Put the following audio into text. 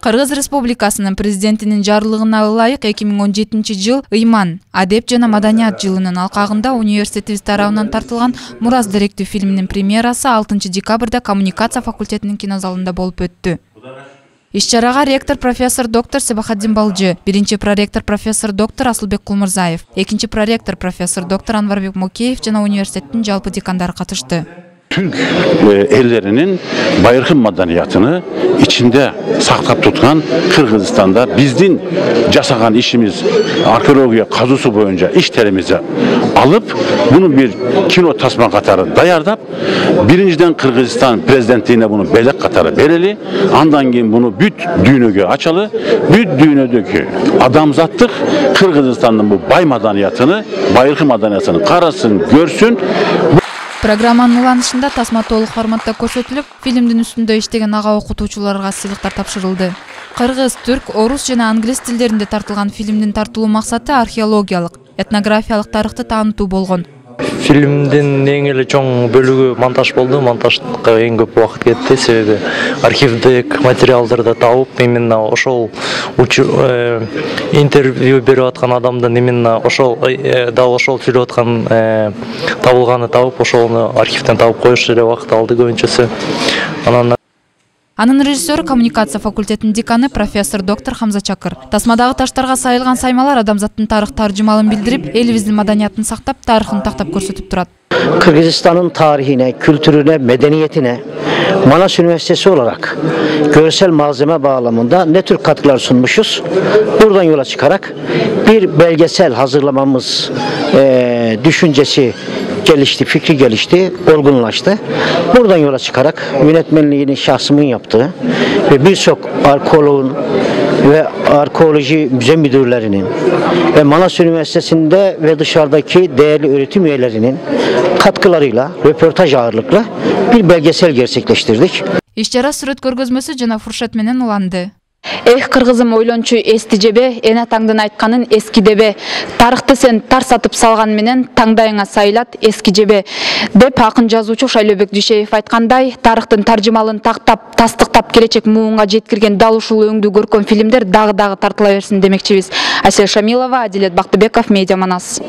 Кыргыз Республикасынын президентинин жарлыгына ылайык 2017-жыл Ыйман, адеп жана маданият жылынын алкагында университетибиз тарабынан тартылган Мурас деректүү фильминин премьерасы 6 декабрда коммуникация факультетинин кинозалында болуп өттү. Иш-чарага ректор профессор доктор Себахаддин Балжы, биринчи проректор профессор доктор Асылбек Кулмурзаев, экинчи проректор профессор доктор Анварбек Мокеев жана университеттин жалпы декандары катышты. Türk ellerinin bayırkın madaniyatını içinde saklap tutkan Kırgızistan'da bizim casagan işimiz arkeolojiya kazusu boyunca işlerimizi alıp bunu bir kino tasma katarı dayardap birinciden Kırgızistan prezidentliğine bunu belek katarı bereli andan keyin bunu büt düğünöge açalı büt düğünödeki adamzattık Kırgızistan'ın bu bay madaniyatını bayırkın madaniyatını karasın görsün. Программанын уланышында тасма толук форматта көрсөтүлүп, фильмдин үстүндө иштеген ага окутуучуларга сыйлыктар тапшырылды. Кыргыз, түрк, орус жана англис тилдеринде тартылган фильмдин тартылуу максаты археологиялык, этнографиялык тарыхты таанытуу болгон. Фильмдин эң эле чоң бөлүгү монтаж болду. Монтажга эң көп убакыт кетти, себеби архивдик материалдарды табып, именно ошол интервью берип аткан адамдын именно ошол сүйлөп аткан табылганы табып, ошону архивден табып коюш эле убакыт алды көбүнчөсү. Анын режиссеру коммуникация факультетинин деканы профессор доктор Хамза Чакыр. Тасмадагы таштарга сайылган саймалар адамзаттын тарых таржымалын билдирип, элибиздин маданиятын сактап, тарыхын тактап көрсөтүп турат. Kırgızistan'ın tarihine, kültürüne, medeniyetine Manas Üniversitesi olarak görsel malzeme bağlamında ne tür katkılar sunmuşuz? Buradan yola çıkarak bir belgesel hazırlamamız düşüncesi gelişti, fikri gelişti, olgunlaştı. Buradan yola çıkarak yönetmenliğini şahsımın yaptığı ve birçok arkeologun ve arkeoloji müze müdürlerinin ve Manas Üniversitesi'nde ve dışarıdaki değerli öğretim üyelerinin katkılarıyla röportaj ağırlıklı bir belgesel gerçekleştirdik. Иш-чара сүрөт көргөзмөсү жана фуршет менен уланды. Эх, кыргызым ойлончу эсти жебе, эне таңдын айтканын эски дебе. Тарыхты сен тарсатып салган менен таңдайыңа сайлат эски жебе. Деп акын жазуучу Шайлообек Дүйшеев айткандай, тарыхтын таржымалын тактап, тастыктап келечек муунга жеткирген дал ушул өңдүү көркөм фильмдер дагы тартыла берсин демекчибиз. Асель Шамилова, Адилет Бактыбеков, Медиа Манас.